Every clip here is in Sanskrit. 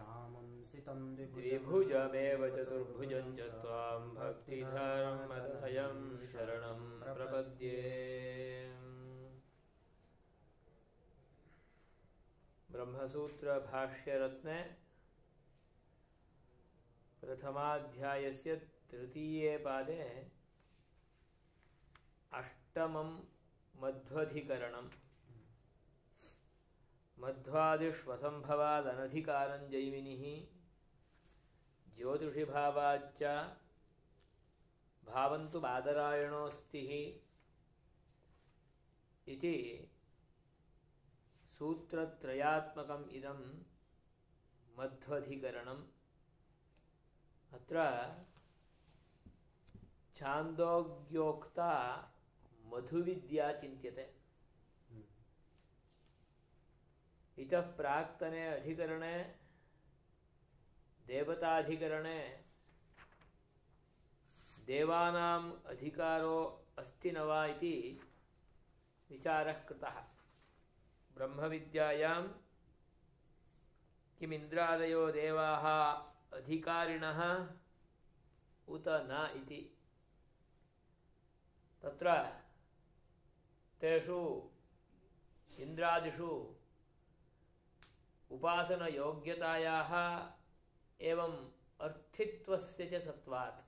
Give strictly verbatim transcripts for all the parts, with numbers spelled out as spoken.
श्यामंसितं द्विभुजमेव चतुर्भुजं च त्वां भक्तिधर्मदयं शरणं प्रपद्ये। ब्रह्मसूत्र भाष्यरत्ने प्रथमाध्यायस्य तृतीये पादे अष्टमं मध्वधिकरणं मध्वादिष्वसंभवादनधिकारं जैमिनिः ज्योतिषिभावाच्च भावन्तु बादरायणोऽस्तिः इति सूत्रत्रयात्मकम् इदं मध्वधिकरणम्। अत्र छान्दोग्योक्ता मधुविद्या चिन्त्यते। इतः प्राक्तने अधिकरणे देवताधिकरणे देवानाम् अधिकारो अस्ति न वा इति विचारः कृतः। ब्रह्मविद्यायां किमिन्द्रादयो देवाः अधिकारिणः उत न इति। तत्र तेषु इन्द्रादिषु उपासनयोग्यतायाः एवं अर्थित्वस्य च सत्वात्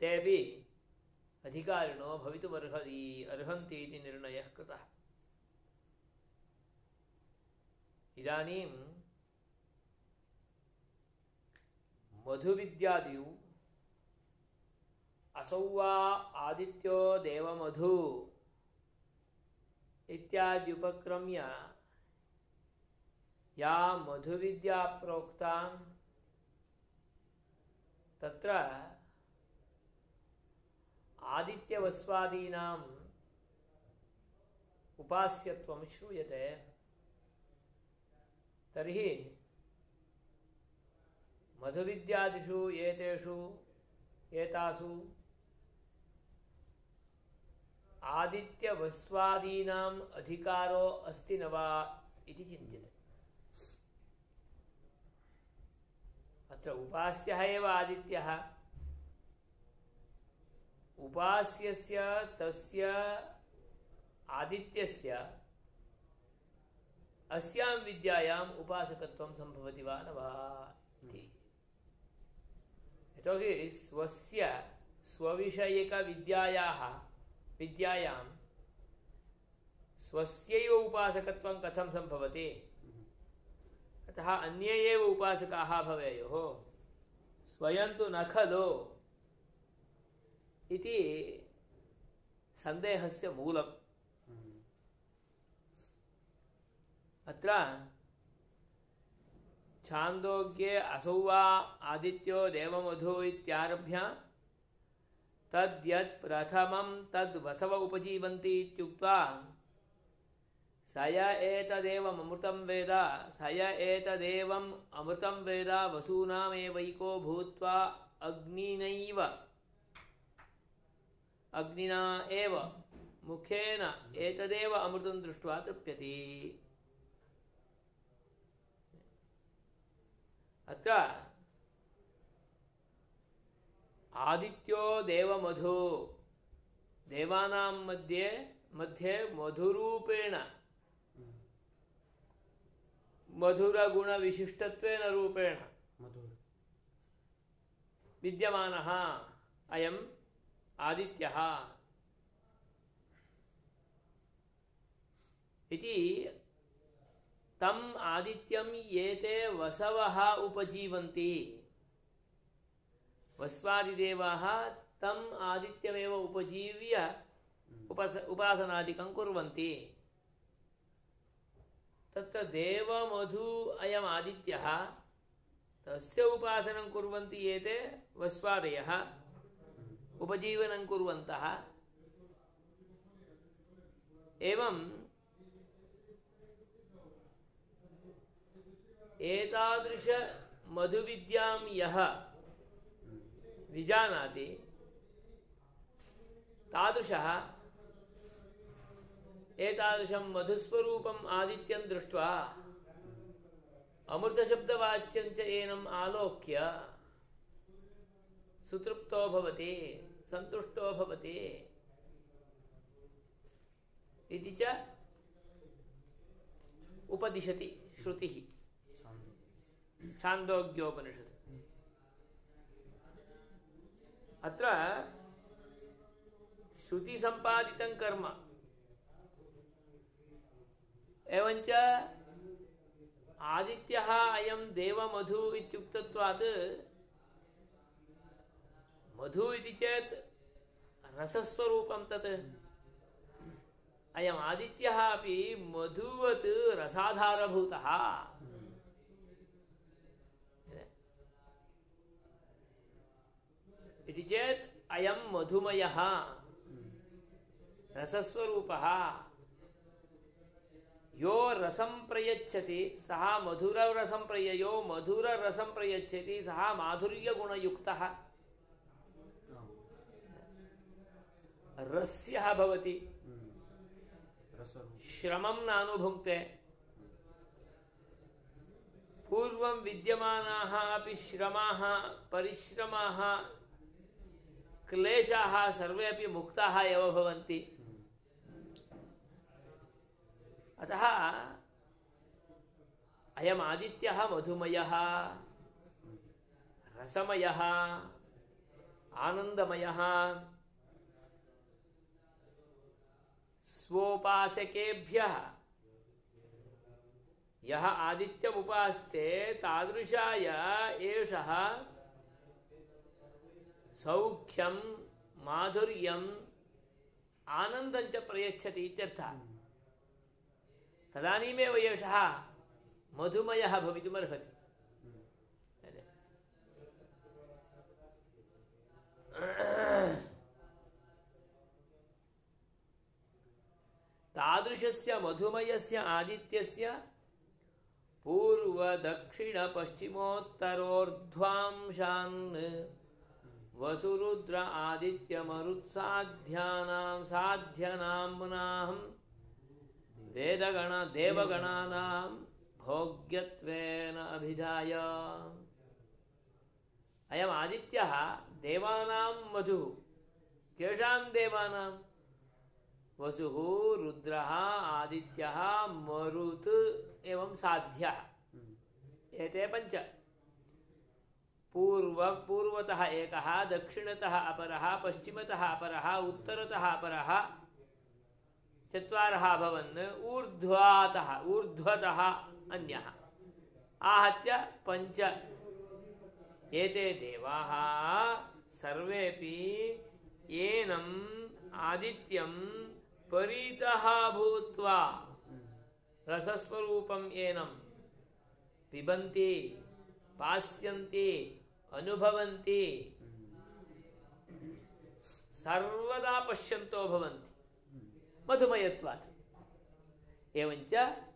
तेऽपि अधिकारिणो भवितुमर्हति अर्हन्ति इति निर्णयः कृतः। इदानीं मधुविद्यादिषु असौ वा आदित्यो देवमधु इत्याद्युपक्रम्य या मधुविद्या प्रोक्ता तत्र आदित्यवस्वादीनाम् उपास्यत्वं श्रूयते। तर्हि मधुविद्यादिषु एतेषु एतासु आदित्यवस्वादीनाम् अधिकारो अस्ति न वा इति चिन्त्यते। अत्र उपास्यः एव आदित्यः, उपास्यस्य तस्य आदित्यस्य अस्यां विद्यायाम् उपासकत्वं सम्भवति वा न वा इति। यतोहि स्वस्य स्वविषयिकविद्यायाः विद्यायां स्वस्यैव उपासकत्वं कथं सम्भवति? अतः अन्ये एव उपासकाः भवेयुः, स्वयं तु न खलु इति सन्देहस्य मूलम्। अत्र छान्दोग्ये असौ वा आदित्यो देवमधु इत्यारभ्य तद्यत् प्रथमं तद् वसव उपजीवन्ति इत्युक्त्वा स य एतदेवमृतं वेद स य एतदेवम् अमृतं वेद वसूनामेवैको भूत्वा अग्निनैव अग्निना एव मुखेन एतदेव अमृतं दृष्ट्वा तृप्यति। अत्र आदित्यो देवमधु देवानां मध्ये मध्ये मधुरूपेण मधुरगुणविशिष्टत्वेन रूपेण विद्यमानः अयम् आदित्यः इति तम् आदित्यं एते वसवः उपजीवन्ति। वस्वादिदेवाः तम् आदित्यमेव उपजीव्य उपास उपासनादिकं कुर्वन्ति। तत्र देवमधु अयम् आदित्यः, तस्य उपासनं कुर्वन्ति एते वस्वादयः उपजीवनं कुर्वन्तः। एवं एतादृश मधुविद्यां यः विजानाति तादृशः एतादृशं मधुस्वरूपम् आदित्यं दृष्ट्वा अमृतशब्दवाच्यं च एनम् आलोक्य सुतृप्तो भवति, सन्तुष्टो भवति इति च उपदिशति श्रुतिः छान्दोग्योपनिषत्। अत्र श्रुति संपादितं कर्म एवंच आदित्यः अयं देवमधु इत्युक्तत्वात् मधु इति चेत् रसस्वरूपं तत् अयम् आदित्यः अपि मधुवत् रसाधारभूतः इति चेत् अयं मधुमयः रसस्वरूपः। यो रसं प्रयच्छति सः मधुररसं प्रय यो मधुररसं प्रयच्छति सः माधुर्यगुणयुक्तः रस्यः भवति, श्रमं नानुभुङ्क्ते। पूर्वं विद्यमानाः अपि श्रमाः परिश्रमाः क्लेशाः सर्वे अपि मुक्ताः एव भवन्ति। अतः अयम् आदित्यः मधुमयः रसमयः आनन्दमयः स्वोपासकेभ्यः यः आदित्यमुपास्ते तादृशाय एषः सौख्यं माधुर्यम् आनन्दं च प्रयच्छति इत्यर्थः। तदानीमेव एषः मधुमयः भवितुमर्हति। तादृशस्य मधुमयस्य आदित्यस्य पूर्वदक्षिणपश्चिमोत्तरोर्ध्वांशान् वसुरुद्र आदित्यमरुत्साध्यानां साध्यनाम्नाहं वेदगण देवगणानां भोग्यत्वेन अभिधाय। अयम् आदित्यः देवानां मधुः। केषां देवानां? वसुः रुद्रः आदित्यः मरुत् एवं साध्यः। एते पञ्च। पूर्व पूर्वतः एकः, दक्षिणतः अपरः, पश्चिमतः अपरः, उत्तरतः अपरः, चत्वारः अभवन्। ऊर्ध्वातः ऊर्ध्वतः अन्यः आहत्य पञ्च। एते देवाः सर्वेपि एनम् आदित्यं परितः भूत्वा रसस्वरूपम् एनं पिबन्ति, पास्यन्ति, अनुभवन्ति, सर्वदा पश्यन्तो भवन्ति मधुमयत्वात्। एवञ्च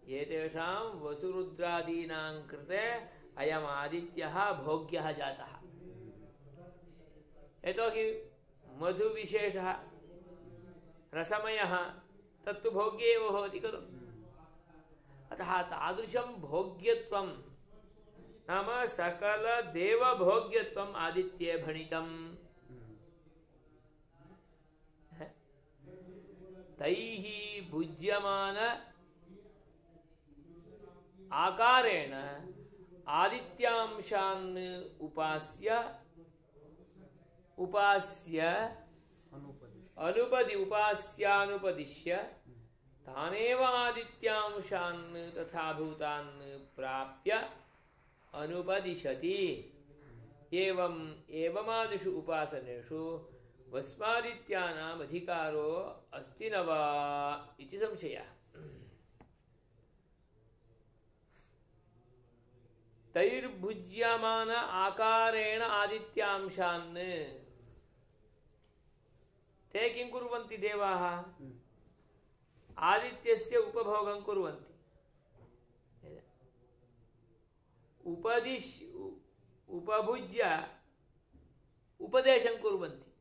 एतेषां वसुरुद्रादीनां कृते अयम् आदित्यः भोग्यः जातः। यतोहि मधुविशेषः रसमयः तत्तु भोग्ये एव भवति खलु। अतः तादृशं भोग्यत्वं नाम सकलदेवभोग्यत्वम् आदित्ये भणितम्। तैः भुज्यमान आकारेण आदित्यांशान् उपास्य उपास्य अनुपदि उपास्यानुपदिश्य तानेव आदित्यांशान् तथा भूतान् प्राप्य अनुपदिशति। एवम् एवमादिषु उपासनेषु वस्मादित्यानाम् अधिकारो अस्ति न वा इति संशयः। तैर्भुज्यमान आकारेण आदित्यांशान् ते किं कुर्वन्ति देवाः? आदित्यस्य उपभोगं कुर्वन्ति। उपदिश उपभुज्य उपदेशं कुर्वन्ति।